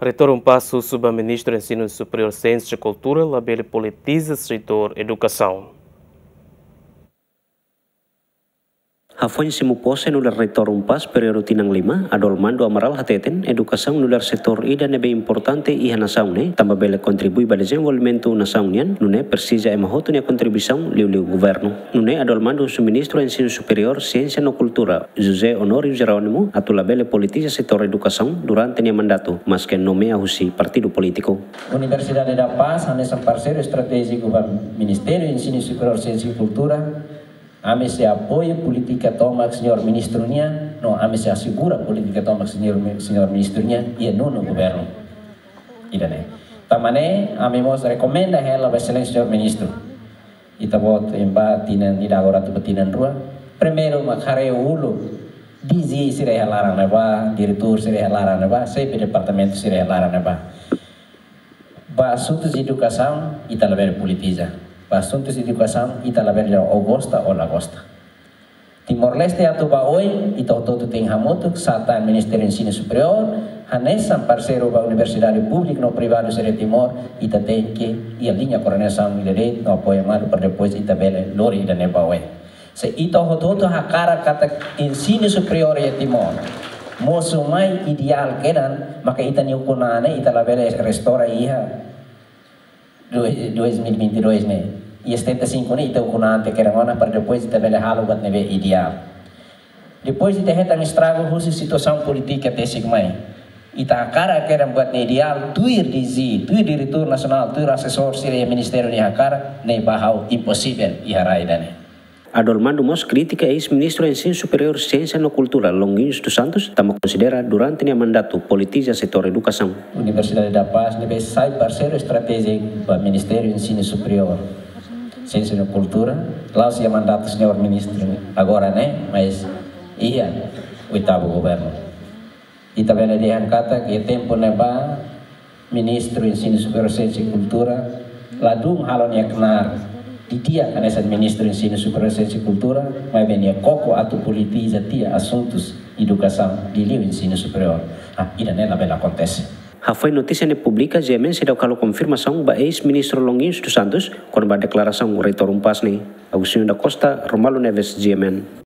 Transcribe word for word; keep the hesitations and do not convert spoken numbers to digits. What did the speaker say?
Reitór UNPAZ husu ba Ministru Ensinu Superiór, Siénsia no Kultura labele politiza setór edukasaun. Hafoin simu pose nu'udar Reitór UNPAZ períodu tinan lima, Adolmando Amaral hateten edukasaun nu'udar setór ida ne'ebé importante iha nasaun ne'e, tanba bele kontribui ba dezenvolvimentu nasaun nian, nune'e presiza ema hotu nia kontribuisaun liuliu governu. Nune'e Adolmando husu Ministru Ensinu Superiór, Siénsia no Kultura, José Honório Jerónimo, atu labele politiza setór edukasaun durante nia mandatu, maske nomeia husi partidu polítiku. Universidade da Paz hanesan parseiru estratéjiku ba Ministériu Ensinu Superiór, Siénsia no Kultura, ami sei apoiu polítika tomak señór ministru nian, no ami sei asegura polítika tomak señór mi-, señór ministru nian iha nonu governu. Ida-ne'e. Tanba ne'e, ami mós rekomenda hela ba Exelénsia señór ministru. Ita-boot ema ba tinan ida agora atu ba tinan rua. Primeiru mak haree uluk D G sira iha laran ne'ebá, diretór sira iha laran ne'ebá, xefe departamentu sira iha laran ne'ebá. Ba asuntus edukasaun, ita labele politiza. Ba asuntus edukasaun, ita labele, ó gosta ou la gosta. Timor-Leste atu ba oin, ita hotu-hotu tenke hamutuk, sá tan Ministériu Ensinu Superiór, hanesan parseiru ba universidade públiku no privadu sira Timor, ita tenke iha liña koordenasaun ida de'it, no apoiu malu para depois ita bele lori ida-ne'e ba oin. Se ita hotu-hotu hakarak katak ensinu superiór iha Timor mosu mai ideál kedan, maka ita-nia ukun-an ne'e ita labele restaura iha dois, dois mil e vinte e dois ne'e. Iha setenta e cinco ne'e ita ukun-an ante kedan ona para depois ita bele halo buat ne'ebé ideál. Depois ita hetan estragu husi situasaun polítika tesik mai. Ita hakarak kedan buat ne'e ideál, tuir D G, tuir diretór nasionál, tuir asesór sira iha ministériu nia hakarak, ne'e ba ha'u imposivel iha rai ida-ne'e. Adolmando mós kritika eis-Ministru Ensinu Superiór, Siénsia no Kultura, Longuinhos dos Santos, tanba konsidera durante nia mandatu politiza setór edukasaun. Universidade da Paz ne'ebé sai parseiru estratéjiku ba Ministériu Ensinu Superiór, Siénsia no Kultura, la'ós iha mandatu señór ministru agora ne'e, mas iha oitavu governu. Ita bele dehan katak iha tempu ne'ebá Ministru Ensinu Superiór, Siénsia no Kultura ladún halo nia knaar didi'ak hanesan Ministru Ensinu Superiór, Siénsia no Kultura, maibé nia koko atu politiza tiha asuntus edukasaun liuliu ensinu superiór. Ah, ida-ne'e labele akontese. Hafoin notísia ne'e publika, GMN seidauk halo konfirmasaun ba eis-Ministru Longuinhos dos Santos kona-ba deklarasaun Reitór UNPAZ ne'e. Agostinho da Costa, Romualdo Neves, GMN.